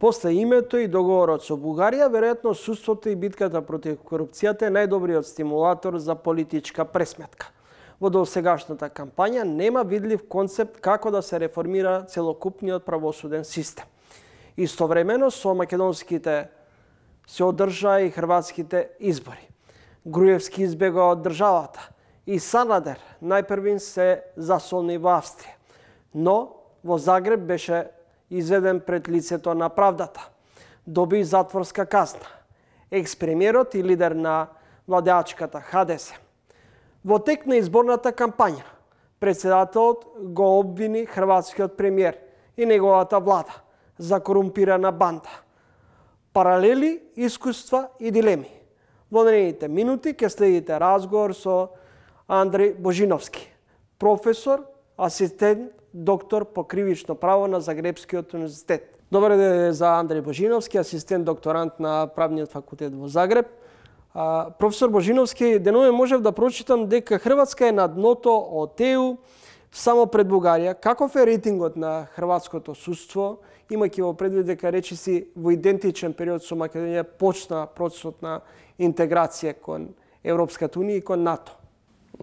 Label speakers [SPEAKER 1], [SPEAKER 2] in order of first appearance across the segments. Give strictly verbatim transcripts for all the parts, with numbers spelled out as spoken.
[SPEAKER 1] После името и договорот со Бугарија, веројатно судството и битката против корупцијата е најдобриот стимулатор за политичка пресметка. Во досегашната кампања нема видлив концепт како да се реформира целокупниот правосуден систем. Истовремено со македонските се одржаа и хрватските избори. Груевски избега од државата и Санадер најпрвин се засолни во Австрија, но во Загреб беше изведен пред лицето на правдата. Доби затворска казна. Екс-премиерот и лидер на владеачката Ха Де Се. Во тек на изборната кампања, председателот го обвини хрватскиот премиер и неговата влада за корумпирана банда. Паралели, искуства и дилеми. Во наредните минути ќе следите разговор со Андреј Божиновски, професор, асистент, доктор по кривично право на Загребскиот универзитет. Добар ден за Андреј Божиновски, асистент докторант на Правниот факултет во Загреб. А, професор Божиновски, денове можев да прочитам дека Хрватска е на дното од Е У само пред Бугарија. Каков е рейтингот на хрватското судство, имајќи во предвид дека речиси во идентичен период со Македонија почна процесот на интеграција кон Европската унија и кон НАТО?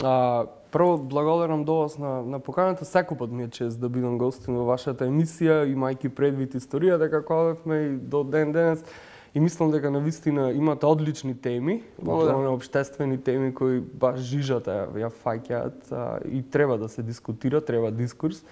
[SPEAKER 2] А, прво, благодарам до вас на, на поканата. Секој пат ми е чест да бидам гостин во вашата емисија, имајќи предвид историјата како одевме и до ден денес. И мислам дека навистина имате одлични теми,
[SPEAKER 1] Благодарам.
[SPEAKER 2] општествени теми кои баш жижата ја фаќаат и треба да се дискутира, треба дискурс.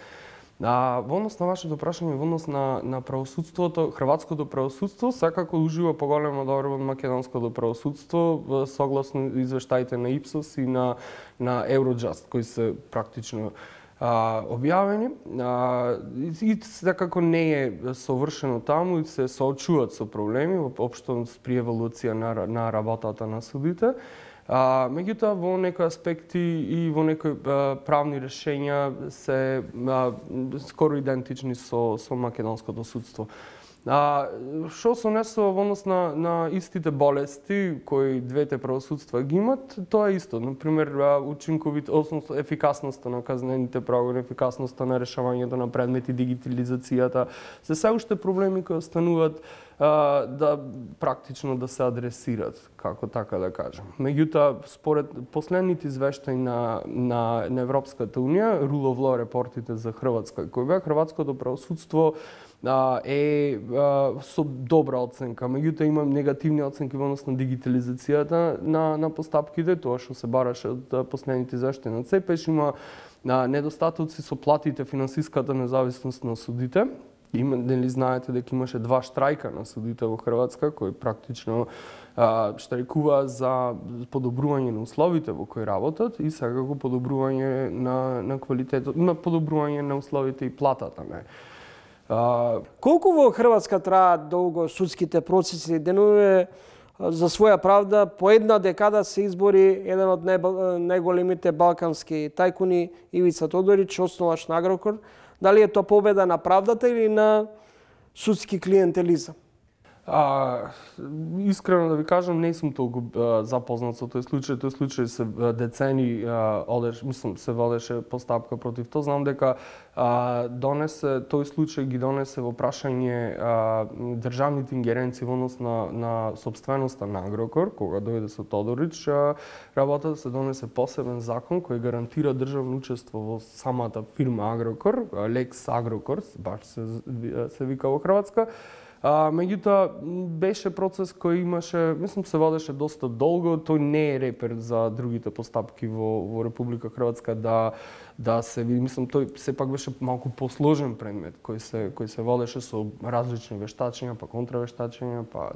[SPEAKER 2] А, во однос на вашето прашање, во однос на, на правосудството, хрватското правосудство секако ужива поголема доверба од македонското правосудство, согласно извештаите на Ипсос и на, на Евроджаст, кои се практично а, објавени. А, и секако не е совршено таму и се соочуваат со проблеми, општо при еволуција на, на работата на судите. А, меѓутоа, во некои аспекти и во некои а, правни решења се а, скоро идентични со, со македонското судство. А, што се однесува во однос на, на истите болести кои двете правосудства ги имат, тоа е исто. Например, учинковит, односно ефикасноста на казнените прогони, ефикасноста на решавањето на предмети, дигитализацијата, се се уште проблеми кои остануваат а, да практично да се адресират, како така да кажем. Меѓутоа, според последните извештаи на, на, на Европската унија, Rule of Law репортите за Хрватска, кои беа хрватското правосудство е со добра оценка, меѓутоа има негативни оценки во однос на дигитализацијата на, на постапките, тоа што се бараше од последните извештаи на ЦЕПЕШ, има недостатоци со платите, финансиската независност на судите. Има, нели знаете дека имаше два штрајка на судите во Хрватска, кои практично а, штрajkуваа за подобрување на условите во кои работат и секако подобрување на, на квалитетот, на подобрување на условите и платата, не.
[SPEAKER 1] Uh, Колку во Хрватска траат долго судските процеси? Денове за своја правда по една декада се избори еден од најголемите балкански тајкуни Ивица Тодорич, основач на Агрокор. Дали е тоа победа на правдата или на судски клиентелизам?
[SPEAKER 2] А, искрено да ви кажам, не сум толку а, запознат со тој случај. Тој случај се децени а, одеш, мислам, се водеше постапка против тоа. Знам дека а, донесе тој случај ги донесе во прашање а, државните ингеренции во однос на, на собственоста на Агрокор, кога дојде со Тодорич, а, работата се донесе посебен закон кој гарантира државно учество во самата фирма Агрокор, Лекс Агрокор, баш се, се вика во Хрватска. А, меѓутоа, беше процес кој имаше, мислам, се водеше доста долго. Тој не е репер за другите постапки во, во Република Хрватска да, да се види. Мислам, тој сепак беше малку посложен предмет кој се, кој се водеше со различни вештачења, па контравештачења, па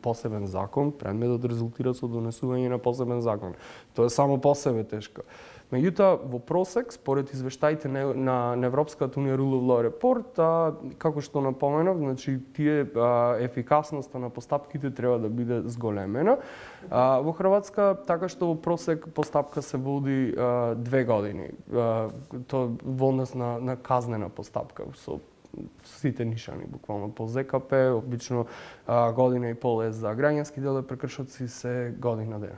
[SPEAKER 2] посебен закон. Предметот резултира со донесување на посебен закон. Тоа е само по себе тешко. Меѓутоа, во просек, според извештаите на, на, на Европската унија Rule of Law Report, а, како што напоменав, значи тие а, ефикасноста на постапките треба да биде зголемена. А, во Хрватска, така што во просек постапка се води а, две години. А, тоа во однос на, на казнена постапка со сите нишани, буквално по Зе Ка Пе, обично а, година и пол е за граѓански дел прекршоци, се година дена.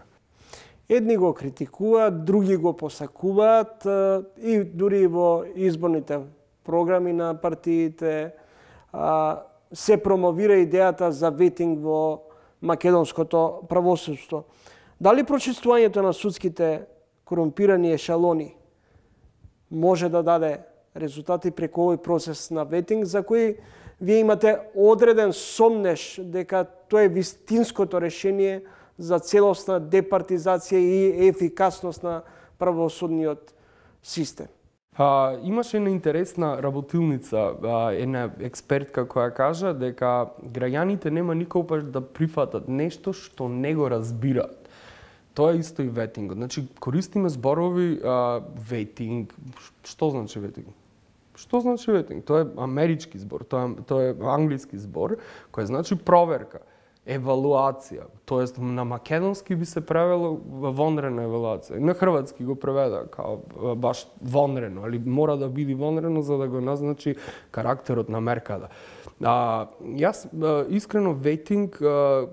[SPEAKER 1] Едни го критикуваат, други го посакуваат и дури во изборните програми на партиите. се промовира идејата за ветинг во македонското правосудство. Дали прочиствувањето на судските корумпирани ешелони може да даде резултати преку овој процес на ветинг, за кој вие имате одреден сомнеш дека тоа е вистинското решение за целосна департизација и ефикасност на правосудниот систем?
[SPEAKER 2] А, имаше една интересна работилница, а, една експертка која кажа дека граѓаните нема никогаш да прифатат нешто што не го разбираат. Тоа е исто и ветингот. Значи, користиме зборови а, ветинг. Што значи ветинг? Што значи ветинг? Тоа е амерички збор, тоа е, тоа е англиски збор, кој значи проверка, евалуација. Тоест, на македонски би се превело вонрена евалуација. На хрватски го преведа као баш вонрено, али мора да биде вонрено за да го назначи карактерот на мерката. А, јас а, искрено ветинг, а,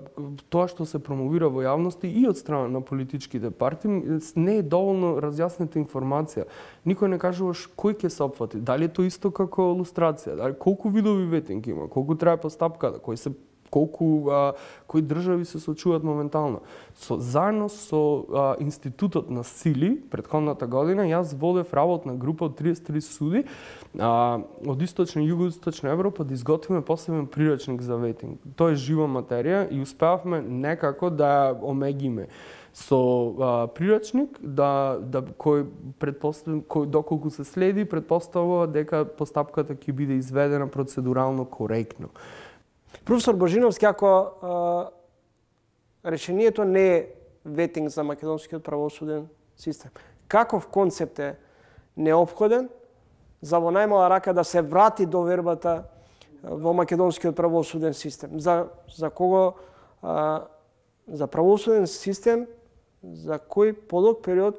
[SPEAKER 2] тоа што се промовира во јавности и од страна на политичките партии, не е доволно разјаснета информација. Никој не кажуваш кој ќе се опфати, дали е тоа исто како лустрација, дали колку видови ветинг има, колку трае постапката, кој се колку а, кои држави се сочуваат моментално. Со, заедно со а, Институтот на сили, претходната година, јас водев работна група од триесет и три суди а, од источна и југоисточна Европа да изготвиме посебен прирачник за ветинг. Тоа е жива материја и успеавме некако да ја омегиме со а, прирачник да, да кој предпоставам кој доколку се следи предпоставува дека постапката ќе биде изведена процедурално коректно.
[SPEAKER 1] Професор Божиновски, ако а, решението не е ветинг за македонскиот правосуден систем, каков концепт е неопходен за во најмала рака да се врати довербата во македонскиот правосуден систем? За, за кого? А, за правосуден систем за кој подолг период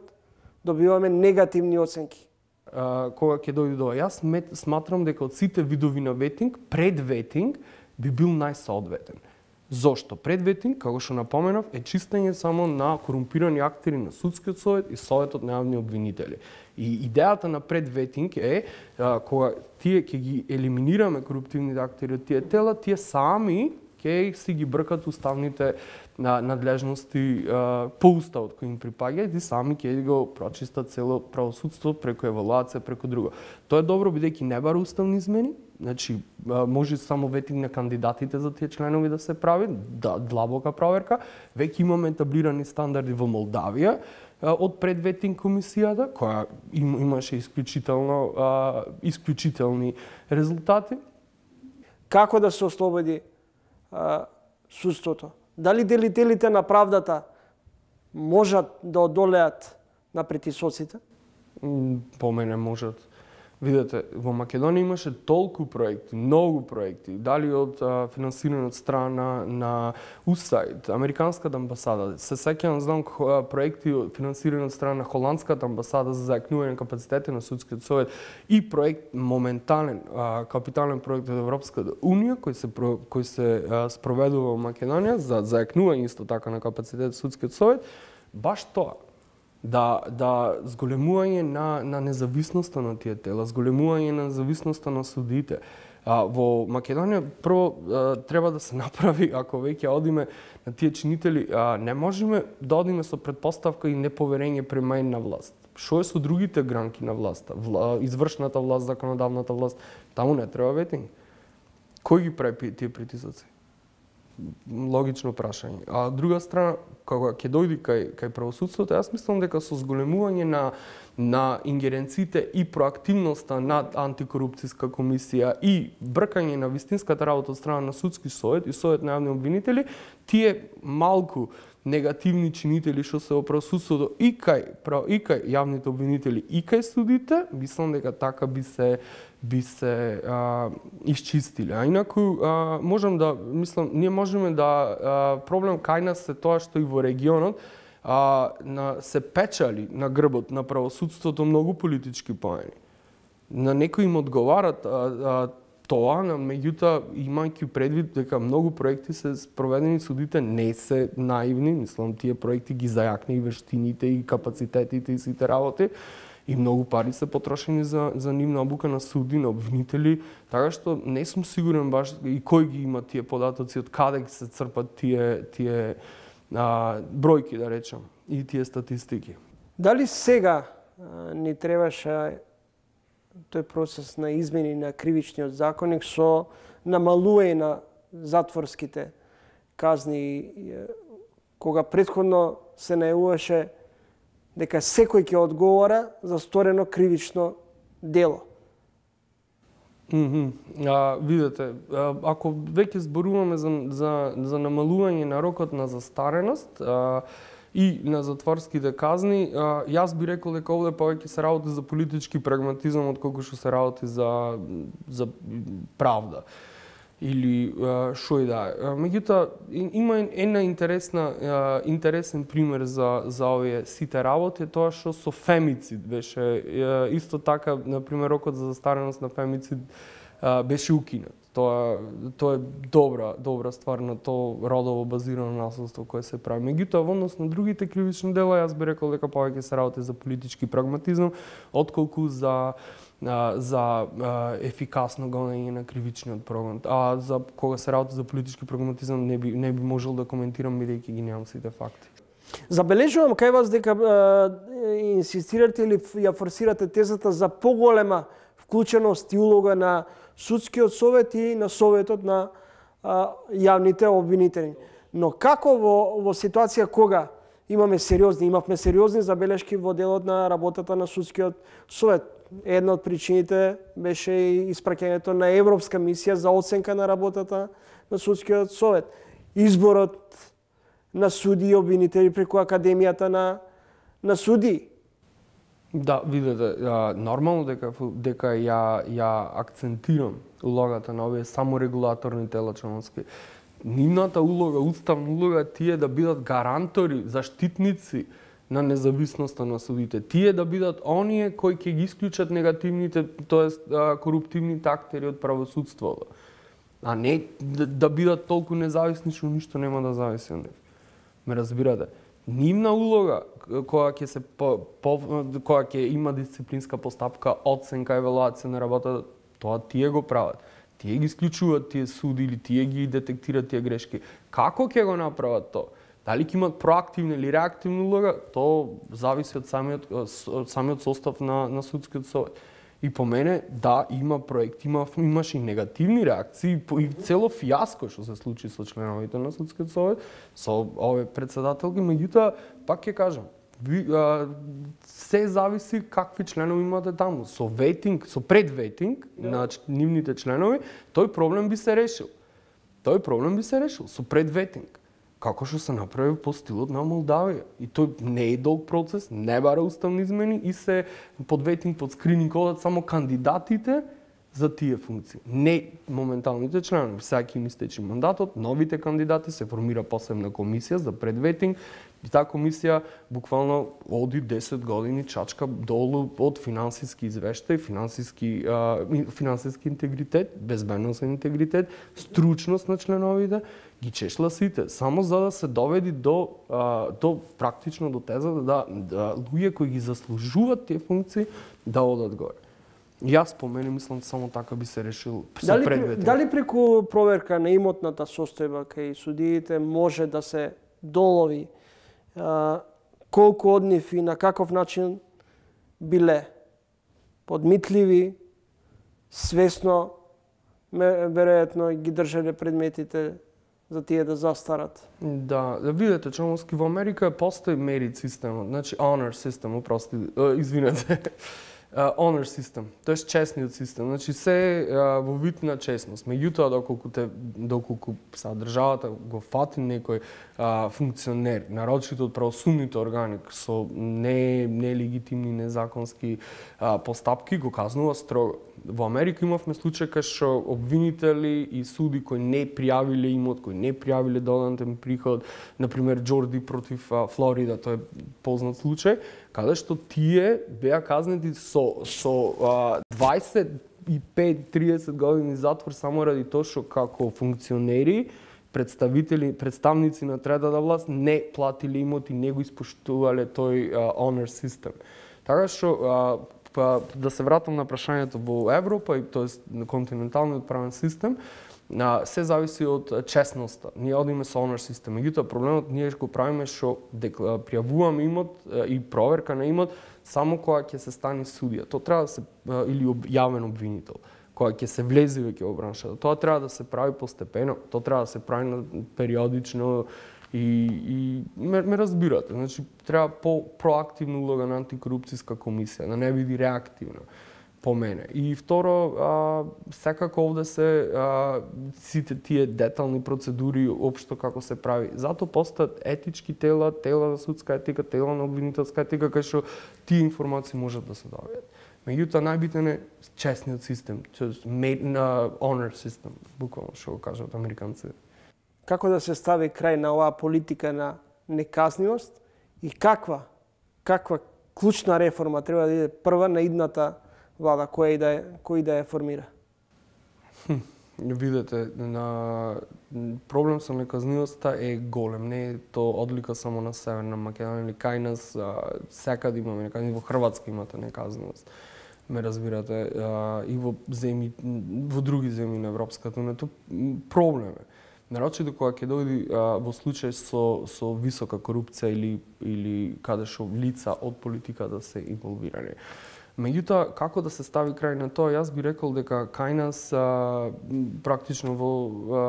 [SPEAKER 1] добиваме негативни оценки?
[SPEAKER 2] А, кога ќе дојде до јас сматрам дека од сите видови на ветинг, пред ветинг би бил најсоодветен. Зошто? Пред ветинг, како што напоменав, е чистење само на корумпирани актери на судскиот совет и советот на јавни обвинители. И идејата на пред ветинг е а, кога тие ќе ги елиминираме коруптивните актери од тие тела, тие сами ќе си ги бркат уставните на надлежности а, по уставот кој им припаѓа и сами ќе го прочистат цело правосудство преку евалуација, преку друго. Тоа е добро бидејќи не бара уставни измени, значи може само ветинг на кандидатите за тие членови да се прави, да, длабока проверка. Веќе имаме етаблирани стандарди во Молдавија од предветинг комисијата, која им, имаше исклучително а, исклучителни резултати.
[SPEAKER 1] Како да се ослободи а, судството? Дали делителите на правдата можат да одолеат на притисоците?
[SPEAKER 2] По мене можат. Видете, во Македонија имаше толку проекти, многу проекти, дали од а, финансирани од страна на ю ес ей ай ди, Американската амбасада. Се сеќавам, знам проекти финансирани од страна на Холандската амбасада за зајакнување на капацитети на судскиот совет и проект моментален а, капитален проект од Европската унија кој се кој се а, спроведува во Македонија за зајакнување исто така на капацитет судскиот совет, баш тоа. Да, да зголемување на, на независноста на тие тела, зголемување на независноста на судите. А, во Македонија прво а, треба да се направи, ако веќе одиме на тие чинители, а, не можеме да одиме со предпоставка и неповерење према една власт. Што е со другите гранки на власта? Вла, извршната власт, законодавната власт, таму не треба ветинг. Кој ги прави тие притисоци? Логично прашање. А од друга страна, кога ќе дојде кај кај правосудството, јас мислам дека со зголемување на на ингеренциите и проактивноста на антикорупцијска комисија и бркање на вистинската работа од страна на судски совет и совет на јавни обвинители, тие малку негативни чинители што се во правосудството и кај и кај јавните обвинители и кај судите, мислам дека така би се би се а, исчистиле. А инаку а, можам да мислам ние можеме да а, проблем кај нас е тоа што и во регионот а, на се печали на грбот на правосудството многу политички поени. На некои им одговарат а, а, тоа, меѓутоа имајќи предвид дека многу проекти се спроведени, судите не се наивни, мислам тие проекти ги зајакни и вештините и капацитетите и сите работи. и многу пари се потрошени за за нивна обука на суди, на обвинители, така што не сум сигурен баш и кој ги има тие податоци, од каде се црпат тие тие а, бројки, да речам, и тие статистики.
[SPEAKER 1] Дали сега а, ни требаше тој процес на измени на кривичниот законник со намалување на затворските казни, кога претходно се најавуваше дека секој ќе одговара за сторено кривично дело?
[SPEAKER 2] Mm -hmm. а, видете, а, ако веќе зборуваме за, за, за намалување на рокот на застареност а, и на затворските казни, а, јас би рекол дека овде повеќе се работи за политички прагматизам отколку што се работи за, за правда. Или што и да е. Меѓутоа, има една интересна, интересен пример за, за овие сите работи, тоа што со фемицид беше, исто така, например, рокот за застареност на фемицид беше укинат. Тоа, тоа е добра, добра ствар на тоа родово базирано насилство кое се прави. Меѓутоа, во однос на другите кривични дела, јас би рекол дека повеќе се работи за политички прагматизам, отколку за за ефикасно гонење на кривичниот прогон. А за кога се работи за политички прагматизам не би не би можел да коментирам бидејќи ги немам сите факти.
[SPEAKER 1] Забележувам кај вас дека е, инсистирате или ја форсирате тезата за поголема вклученост и улога на судскиот совет и на советот на а, јавните обвинители. Но како во, во ситуација кога имаме сериозни, имавме сериозни забелешки во делот на работата на судскиот совет. Една од причините беше и испраќањето на Европска мисија за оценка на работата на судскиот совет. Изборот на суди и обвинители преку Академијата на, на суди.
[SPEAKER 2] Да, видете, нормално дека дека ја ја акцентирам улогата на овие саморегулаторни тела членски. Нивната улога, уставна улога, тие да бидат гарантори, заштитници на независноста на судите. Тие да бидат оние кои ќе ги исклучат негативните, тоест коруптивните актери од правосудството. А не да, да бидат толку независни што ништо нема да зависи од нив. Ме разбирате? Нивна улога која ќе се по, по, која ќе има дисциплинска постапка, оценка, евалуација на работата, тоа тие го прават. Тие ги исклучуваат тие суди или тие ги детектираат тие грешки. Како ќе го направат тоа? Дали ќе имат проактивна или реактивна улога, тоа зависи од самиот, од самиот состав на, на судскиот совет. И по мене, да, има проекти, има, имаше и негативни реакции, и цело фијаско што се случи со членовите на судскиот совет, со овие председателки, меѓутоа, пак ќе кажам, ви, а, се зависи какви членови имате таму. Со ветинг, со предветинг yeah. на нивните членови, тој проблем би се решил. Тој проблем би се решил со предветинг. Како што се направи по стилот на Молдавија. И тој не е долг процес, не бара уставни измени и се под ветинг, под скрининг одат само кандидатите за тие функции. Не моменталните членови. Сега ќе им истече мандатот, новите кандидати, се формира посебна комисија за предветинг. И таа комисија буквално оди десет години чачка долу од финансиски извештај, финансиски, а, финансиски интегритет, безбедносен интегритет, стручност на членовите, ги чешла сите, само за да се доведи до, а, до практично до тезата да, да луѓе кои ги заслужуваат тие функции да одат горе. И јас по мене мислам само така би се решил со предветинг.
[SPEAKER 1] Дали преку проверка на имотната состојба кај судиите може да се долови а, колку од нив и на каков начин биле подмитливи, свесно, веројатно ги држале предметите за тие да застарат.
[SPEAKER 2] Да, да видите, Чомовски, во Америка постои мерит системот, значи honor систем, упрости, извинете. Uh, honor систем, тоест честниот систем. Значи се uh, во вид на честност. Меѓутоа, доколку те доколку са државата го фати некој uh, функционер, нарочито од правосудните органи со не нелегитимни, незаконски uh, постапки, го казнува строго. Во Америка имавме случај кај што обвинители и суди кои не пријавиле имот, кои не пријавиле додатен приход, например Џорди против uh, Флорида, тоа е познат случај, каде што тие беа казнети со со uh, дваесет и пет до триесет години затвор само ради тоа што како функционери, представители, представници на третата власт не платиле имот и не го испоштувале тој uh, honor систем. Така што а, па, да се вратам на прашањето во Европа и тоест континенталниот правен систем, а, се зависи од честноста. Ние одиме со honor систем. Меѓутоа проблемот ние го правиме што пријавуваме имот и проверка на имот само кога ќе се стане судија. Тоа треба да се или јавен обвинител, кога ќе се влезе веќе во браншата. Тоа треба да се прави постепено, тоа треба да се прави периодично и и ме, ме разбирате. Значи треба по проактивна улога на антикорупцијска комисија, да не биде реактивна по мене. И второ, а, секако овде се а, сите тие детални процедури општо како се прави. Зато постат етички тела, тела за судска етика, тела на обвинителска етика, кај што тие информации можат да се добијат. Меѓутоа најбитен е честниот систем, made на honor систем, буквално што го кажат американците.
[SPEAKER 1] Како да се стави крај на оваа политика на неказнивост и каква каква клучна реформа треба да иде прва на идната влада, која и да е, кој да ја формира?
[SPEAKER 2] Хм, видете, на проблем со неказнивоста е голем. Не е тоа одлика само на Северна Македонија или кај нас, секаде имаме неказнивост, во Хрватска имате неказнивост. Ме разбирате, и во земји, во други земји на Европската унија, тоа проблем е. Нарочито кога ќе дојде во случај со со висока корупција или или каде што лица од политиката се инволвирани. Меѓутоа, како да се стави крај на тоа, јас би рекол дека кај нас а, практично во а,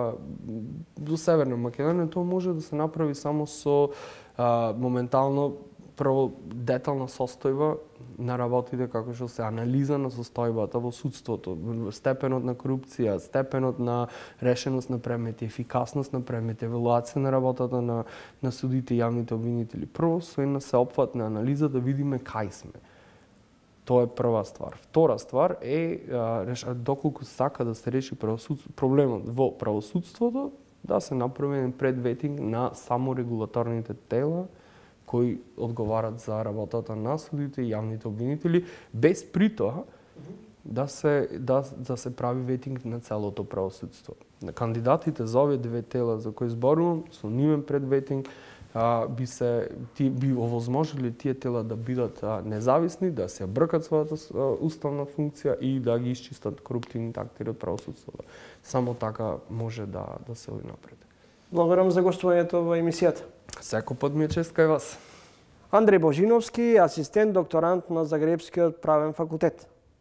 [SPEAKER 2] во Северна Македонија тоа може да се направи само со а, моментално прво детална состојба на работите, како што се анализа на состојбата во судството, степенот на корупција, степенот на решеност на предмети, ефикасност на предмети, евалуација на работата на на судите и јавните обвинители. Прво со една сеопфатна анализа да видиме кај сме. Тоа е прва ствар. Втора ствар е а, доколку сака да се реши проблемот во правосудството, да се направи еден предветинг на саморегулаторните тела кои одговарат за работата на судите и јавните обвинители, без при тоа да се да да се прави ветинг на целото правосудство. На кандидатите за овие две тела за кои зборувам, со нивен предветинг а, би се ти би овозможили тие тела да бидат а, независни, да се бркат својата а, уставна функција и да ги исчистат коруптивните актери од правосудството. Само така може да да се оди напред.
[SPEAKER 1] Благодарам за гостувањето во емисијата.
[SPEAKER 2] Секој пат ми е чест кај вас.
[SPEAKER 1] Андреј Божиновски, асистент докторант на Загребскиот правен факултет.